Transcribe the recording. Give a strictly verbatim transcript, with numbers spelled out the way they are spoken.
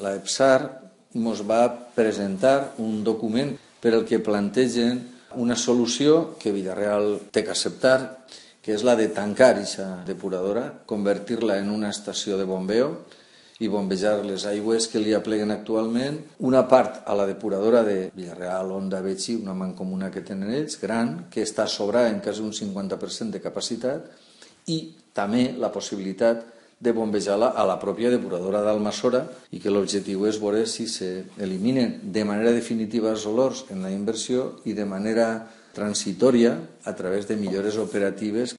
la EPSAR ens va presentar un document per el que plantegen una solució que Vila-real té que acceptar, que és la de tancar aquesta depuradora, convertir-la en una estació de bombeo i bombejar les aigües que li apleguen actualment, una part a la depuradora de Vila-real, Onda, Betxí, una mancomuna que tenen ells, gran, que està sobrada en quasi un cinquanta per cent de capacitat, i també la possibilitat de bombejar-la a la pròpia depuradora d'Almassora i que l'objectiu és veure si s'eliminen de manera definitiva els olors en la inversió i de manera transitòria a través de millores operatives.